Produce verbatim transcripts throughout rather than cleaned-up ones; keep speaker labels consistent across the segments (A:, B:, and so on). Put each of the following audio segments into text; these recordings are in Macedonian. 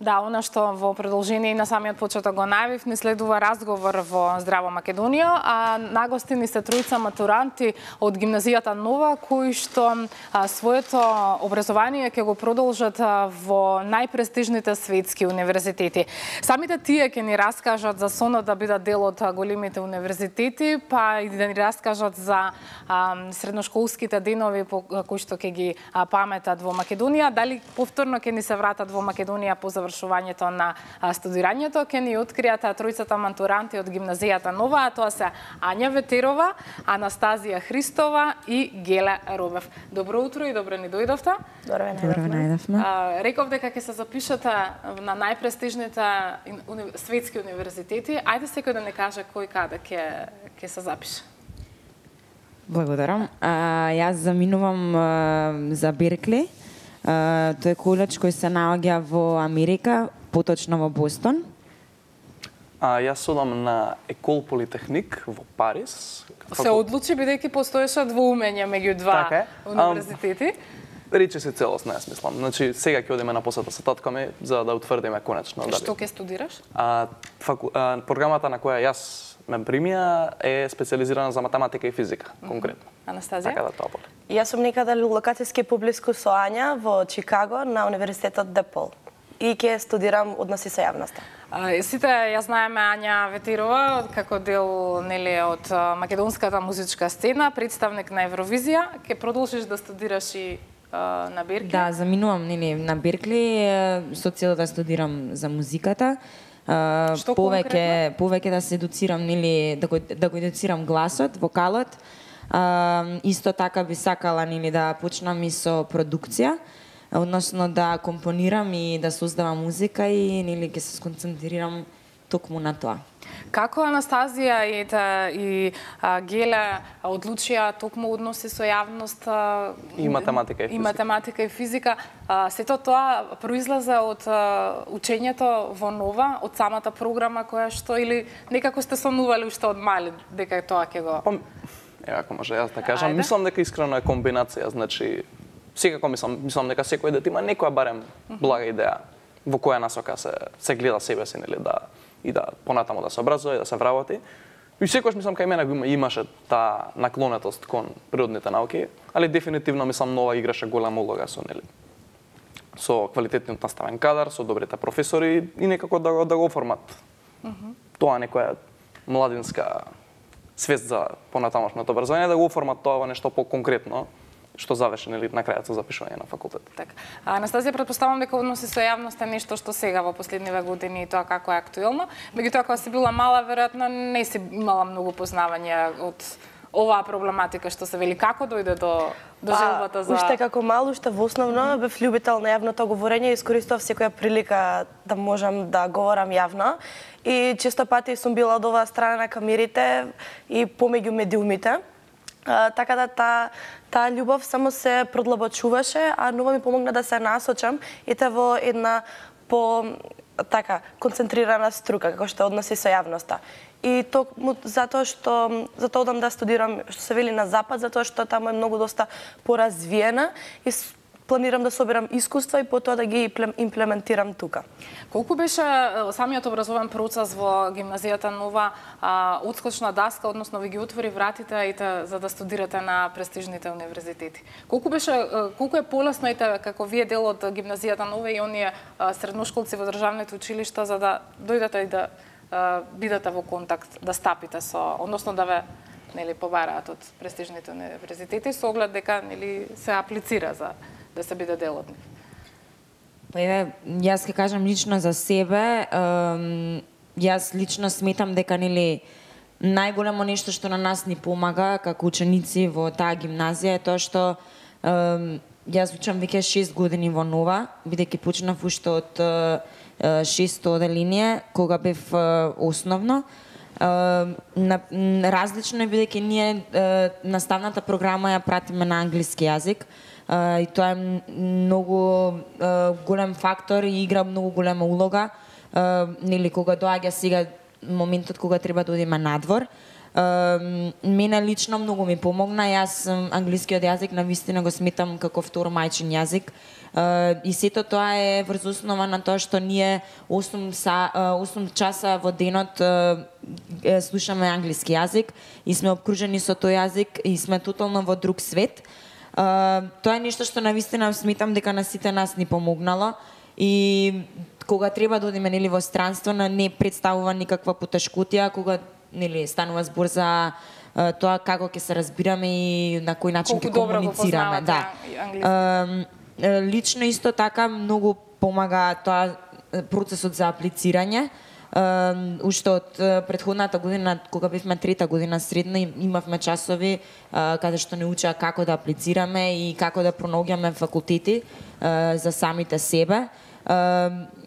A: Да, она што во продолжение на самиот почеток го најавив, ни следува разговор во Здраво Македонија, а нагостини се тројца матуранти од гимназијата Нова, кои што а, своето образование ќе го продолжат а, во најпрестижните светски универзитети. Самите тие ќе ни раскажат за сонот да бидат дел од големите универзитети, па и да ни раскажат за а, средношколските денови по кои што ќе ги а, паметат во Македонија, дали повторно ќе ни се вратат во Македонија по завршувањето на студирањето, ќе ни откријат тројцата матуранти од гимназијата Нова, а тоа се Ања Ветерова, Анастазија Христова и Гела Робев. Добро утро и добро ни дојдовте.
B: Добро ве најдовме.
A: Реков дека ќе се запишете на најпрестижните уни... светски универзитети. Ајде секој да не каже кој каде ќе ќе се запише.
C: Благодарам. А, јас заминувам а, за Беркли. Uh, тој е коледж кој се наоѓа во Америка, поточно во Бостон.
D: А, јас одам на Екол Политехник во Париз.
A: Се одлучи бидејќи постоеше двоумење меѓу два
D: така
A: универзитети.
D: Рече се целосно, јас мислам. Значи, сега ќе одиме на посета со татко ми за да утврдиме конечно.
A: Што ќе студираш?
D: А, факу... а, програмата на која јас ме примија е специализирана за математика и физика, конкретно.
A: Анастазија?
D: Така да тоа буде.
B: Јас сум некаде локацијски поблиску со Ања во Чикаго на Универзитетот Депол и ќе студирам односи со јавноста.
A: А, сите ја знаеме Ања Ветерова како дел нели од македонската музичка сцена, представник на Евровизија. Ќе продолжиш да студираш и а, на Беркли?
C: Да, заминувам нели на Беркли со цел да студирам за музиката. Uh,
A: Што
C: повеќе повеќе да се едуцирам нели да го да го едуцирам гласот, вокалот. Uh, исто така би сакала нели да почнам и со продукција, односно да компонирам и да создавам музика и нели ќе се сконцентрирам токму на тоа.
A: Како Анастазија и, та, и а, Геле одлучија токму односи со јавност а,
D: и математика и физика.
A: И математика и физика, а, сето тоа произлезе од а, учењето во Нова, од самата програма која што или некако сте сонували уште од мали дека тоа ќе го...
D: Па, е, ако може јас да кажам,
A: Ајде.
D: мислам дека искрено е комбинација, значи секако мислам, мислам дека секој дете има некоја барем блага идеја во која насока се се гледа себе си, нели да и да понатаму да се образува и да се вработи. И секогаш мислам кај мене го имаше таа наклонетост кон природните науки, али дефинитивно мислам Нова играше голема улога со нели со квалитетниот наставен кадар, со добрите професори и некако да го да го оформат. Mm -hmm. Тоа некоја младинска свест за понатамошното образование, да го оформат тоа во нешто по-конкретно што заврши нели на крајот со запишување на факултет.
A: Така. Анастазија, претпоставам дека односи со јавноста е нешто што сега во последниве години и тоа како е актуелно. Меѓутоа кога си била мала, веројатно не си имала многу познавање од оваа проблематика што се вели. Како дојде до до желбата за...
B: Уште како мал, уште во основно бев љубител на јавното говорење и искористував секоја прилика да можам да говорам јавно. И често пати сум била од оваа страна на камерите и помеѓу медиумите. Uh, така да таа та љубов само се продлабочуваше, а Нова ми помогна да се насочам и те во една по така концентрирана струка како што односи со јавноста. И токму затоа што затоа одам да студирам што се вели на запад, затоа што таму е многу доста поразвиена и планирам да соберам искуства и потоа да ги имплементирам тука.
A: Колку беше самиот образовен процес во гимназијата Нова а, отскочна даска, односно ви ги отвори вратите и те, за да студирате на престижните универзитети? Колку беше колку е полесно и те, како вие дел од гимназијата Нова и оние а, средношколци во државните училишта за да дојдете и да а, бидете во контакт, да стапите со, односно да ве нели побараат од престижните универзитети со оглед дека нели се аплицира за да се биде дел од нив?
C: Па еве, јас ќе кажам лично за себе, ем, јас лично сметам дека нели најголемо нешто што на нас ни помага како ученици во таа гимназија е тоа што ем, јас учам веќе шест години во Нова, бидејќи почнав уште од е, шесто оделение кога бев е, основно. Uh, на, различно е бидејќи ние uh, наставната програма ја пратиме на англиски јазик uh, и тоа е многу uh, голем фактор и игра многу голема улога uh, нели кога доаѓа сега моментот кога треба да одиме надвор. Мене лично многу ми помогна. Јас англискиот јазик навистина го сметам како втор мајчин јазик. И сето тоа е врз основа на тоа што ние осум часа во денот слушаме англиски јазик и сме обкружени со тој јазик и сме тотално во друг свет. Тоа е нешто што навистина сметам дека на сите нас ни помогнало и кога треба да одиме нели во странство не представува никаква потешкотија, кога нели станува збор за тоа како ќе се разбираме и на кој начин ќе комуницираме, да. Лично исто така многу помага тоа процесот за аплицирање. Уште од претходната година, кога бевме трета година средна, имавме часови каде што не учеа како да аплицираме и како да пронаоѓаме факултети за самите себе.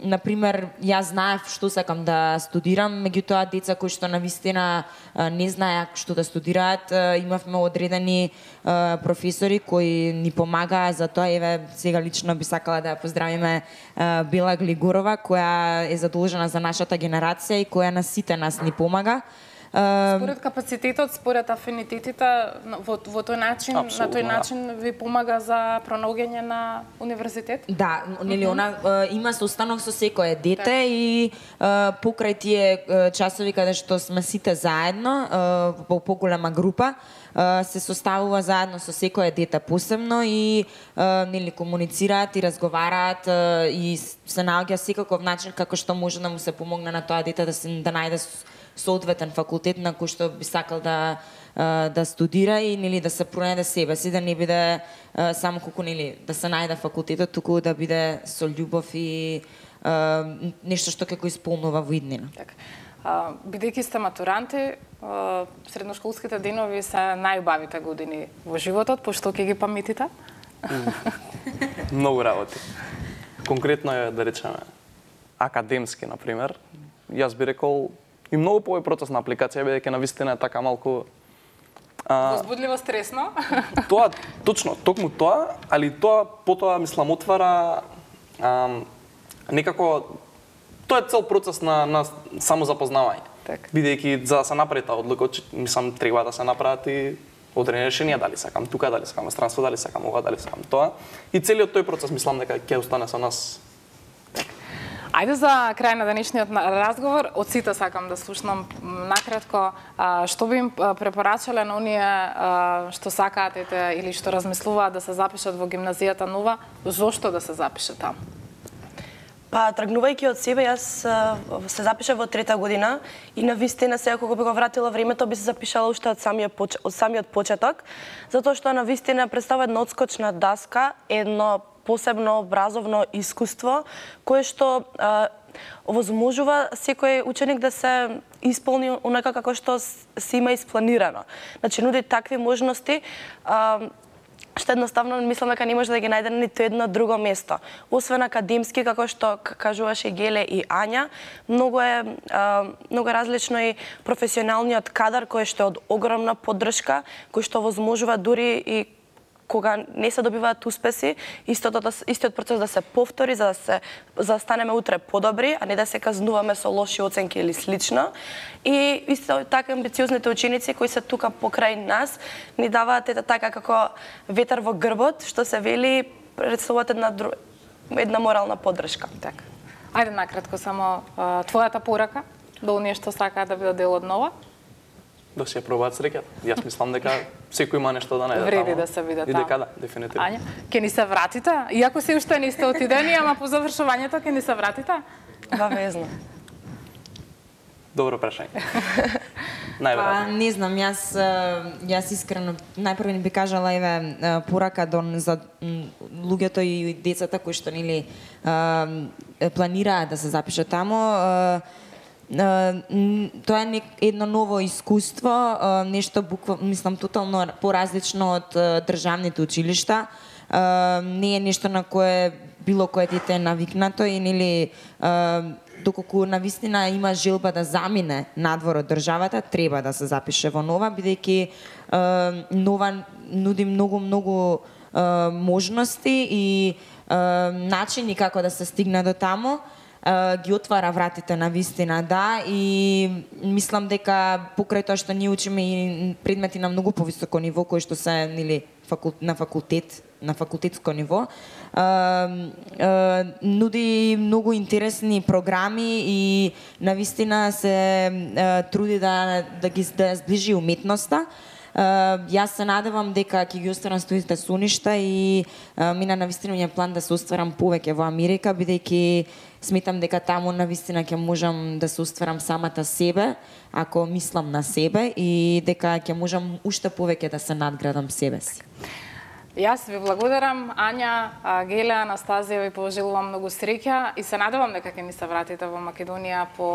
C: Например, јас знаев што сакам да студирам, меѓутоа деца кои што навистина не знаеа што да студираат, имавме одредени професори кои ни помагаа за тоа. Еве, сега лично би сакала да ја поздравиме Бела Глигорова, која е задолжена за нашата генерација и која на сите нас ни помага.
A: Според капацитетот, според афинитетите, во, во тој начин, Абсолютно, на тој начин ви помага за пронаоѓање на универзитет?
C: Да, нели она има состанок со секое дете так. И покрај тие часови каде што сме сите заедно во поголема група, се составува заедно со секое дете посебно и нели комуницираат и разговараат и се наоѓа секаков начин како што може да му се помогне на тоа дете да се да најде соодветен факултет на кој што би сакал да да студира и нели да се пронајде себе си, да не биде само колку нели да се најде факултетот, туку да биде со љубов и нешто што ќе го исполнува во иднина.
A: Така. Бидејќи сте матуранти, средношколските денови се најубавите години во животот, пошто ќе ги паметите?
D: Многу работи. Конкретно е, да речеме, академски, например. Јас би рекол и многу повеќе процес на апликација, бидејќи навистина е така малку
A: возбудливо, стресно.
D: Тоа точно, токму тоа, али тоа потоа мислам отвара а, некако тоа е цел процес на на самозапознавање.
A: Так.
D: Бидејќи за да се направи таа одлука, мислам треба да се направат и одредени решенија, дали сакам тука, дали сакам странство, дали сакам ова, дали сакам тоа. И целиот тој процес мислам дека ќе остане со нас.
A: Ајде за крај на денешниот разговор, од сите сакам да слушнам накратко, што би им препорачале на оние што сакаат или што размислуваат да се запишат во гимназијата нова, зошто да се запишат таму?
B: Па, тргнувајќи од себе, јас се запишав во трета година и навистина сега кога би го вратила времето би се запишала уште од самиот поч... од самиот почеток, затоа што навистина представува една одскочна даска, едно посебно образовно искуство кое што а, овозможува секој ученик да се исполни онака како што се има испланирано. Значи нуди такви можности а, што едноставно мислам дека не може да ги најде на ниту едно друго место. Освен академски, како што кажуваше Геле и Ања, многу е а, многу различно и професионалниот кадар кој што е од огромна поддршка, кој што возможува дури и кога не се добиваат успеси, истото, истиот процес да се повтори за да се за да станеме утре подобри, а не да се казнуваме со лоши оценки или слично. И исто така амбициозните ученици кои се тука покрај нас ни даваат ета така како ветер во грбот, што се вели представуваат една една морална поддршка.
A: Така. Ајде накратко само а, твојата порака до оние што сакаат да бидат дел од нова?
D: Да се ја пробаат среќата. Јас мислам дека секој има нешто да најде.
A: Вреди да се биде таму.
D: И дека да, дефинитивно.
A: Ања, ќе ни се вратите? Иако се уште не сте отидени, ама по завршувањето ќе ни се вратите?
B: Бавезно.
D: Добро прашање.
C: Па, не знам, јас јас искрено најпрво би кажала еве порака до за луѓето и децата кои што нели планираат да се запишат таму. Тоа е едно ново искуство, нешто буква, мислам тотално поразлично од државните училишта. Не е нешто на кое било кое дете е навикнато и нели доколку навистина има желба да замине надвор од државата, треба да се запише во нова, бидејќи нова нуди многу многу можности и начини како да се стигне до таму. ги отвара вратите на вистина, да, и мислам дека покрај тоа што ние учиме и предмети на многу повисоко ниво, кои што се нели на факултет, на факултетско ниво, а, а, нуди многу интересни програми и навистина се а, труди да да ги да сближи уметноста. Uh, јас се надевам дека ќе ги остварам студиите со ништа и uh, мина навистина ми е план да се остварам повеќе во Америка, бидејќи сметам дека таму навистина ќе можам да се остварам самата себе, ако мислам на себе, и дека ќе можам уште повеќе да се надградам себе си.
A: Јас ви благодарам, Ања, Геле, Анастазија, ви пожелувам многу среќа и се надевам дека ќе ни се вратите во Македонија по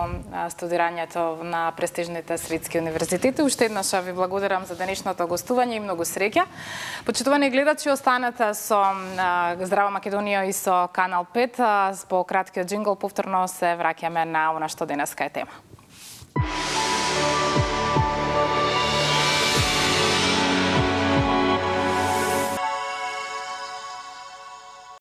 A: студирањето на престижните светски универзитети. Уште еднаш ви благодарам за денешното гостување и многу среќа. Почитувани гледачи, останете со Здрава Македонија и со Канал пет. По краткиот џингл повторно се враќаме на она што денеска е тема.